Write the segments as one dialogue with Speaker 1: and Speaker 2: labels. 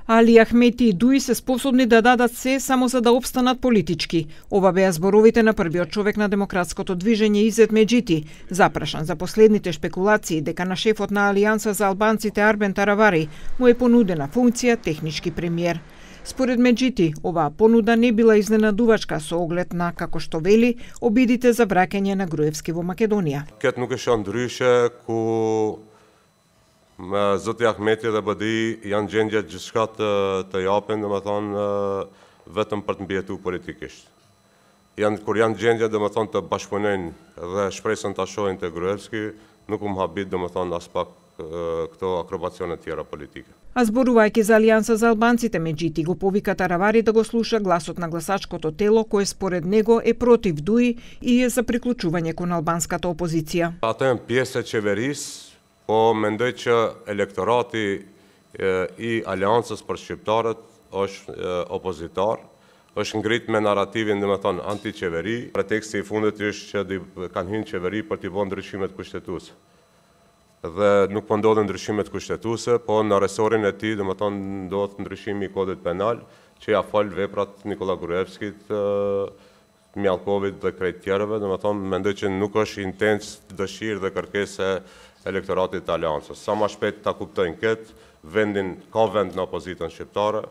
Speaker 1: Али Ахмети и Дуи се способни да дадат се само за да опстанат политички. Ова беа зборовите на првиот човек на демократското движење Изет Меджити, запрашан за последните шпекулации дека на шефот на Алијанса за албанците Арбен Таравари му е понудена функција технички премиер. Според Меджити, оваа понуда не била изненадувачка со оглед на, како што вели, обидите за враќање на Груевски во Македонија.
Speaker 2: Кет nuk është ndryshe ku Zoti Ahmeti dhe BDI janë gjendje gjithçka të japin, domethënë vetëm për të mbijetuar politikisht. Kur janë gjendje domethënë të bashkëpunojnë dhe shpresën ta shohin te Gruevski, nuk u mhabit domethënë as pak këto akrobacione tjera politike.
Speaker 1: А зборувајќи за Алијанса за албанците, Меджити го повика Таравари да го слуша гласот на гласачкото тело, кое според него е против Дуи и е за приклучување кон албанската опозиција.
Speaker 2: Ata janë pjesë e qeverisë, po mendoj që elektorati i Aleancës për shqiptarët është opozitar, është ngrit me narrativin domethënë anti-qeveri. Preteksti i fundit është që kanë hyrë në qeveri për t'i bënë ndryshimet kushtetuese. Dhe nuk po ndodhen ndryshimet kushtetuese, po në resorin e tij domethënë ndodh ndryshimi i kodit penal që ja fal veprat Nikola Gruevskit, Mjallkovit dhe krejt tjerëve, domethënë mendoj që nuk është intens dëshirë dhe kërkesë e elektoratit të Aleancës. Sa më shpejt ta kuptojnë këtë, ka vend në opozitën shqiptare,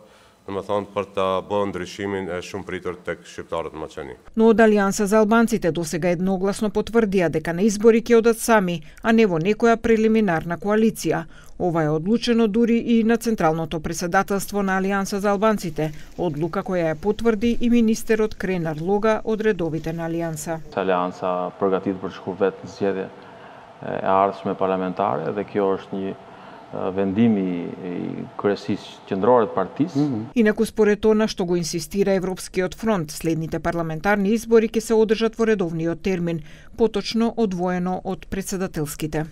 Speaker 2: domethënë për ta bërë ndryshimin e shumë pritur tek shqiptarët në Maqedoni.
Speaker 1: Но од Алијанса за албанците досега едногласно потврдија дека на избори ќе одат сами, а не во некоја прелиминарна коалиција. Ова е одлучено дури и на Централното председателство на Алијанса за албанците, одлука која ја потврди и министерот Кренар Лога од редовите на Алијанса.
Speaker 3: Алијанса përgatit për të shkuar vetë në zgjedhje e ardhshme parlamentare dhe kjo është një vendimi i kryesisë qendrore të partisë.
Speaker 1: Инаку според она што го инсистира Европскиот фронт, следните парламентарни избори ќе се одржат во редовниот термин, поточно одвоено од претседателските.